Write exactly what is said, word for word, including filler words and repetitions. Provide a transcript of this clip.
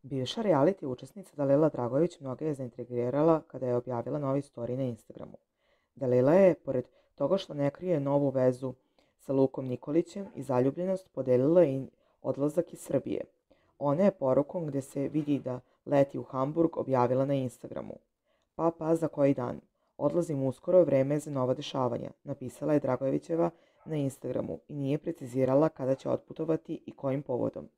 Bivša reality učesnica Dalila Dragović mnoge je zaintrigirala kada je objavila novi story na Instagramu. Dalila je, pored toga što ne krije novu vezu sa Lukom Nikolićem i zaljubljenost, podelila i odlazak iz Srbije. Ona je porukom gde se vidi da leti u Hamburg objavila na Instagramu. Pa pa za koji dan. Odlazim uskoro, vreme je za nova dešavanja, napisala je Dragojevićeva na Instagramu i nije precizirala kada će otputovati i kojim povodom.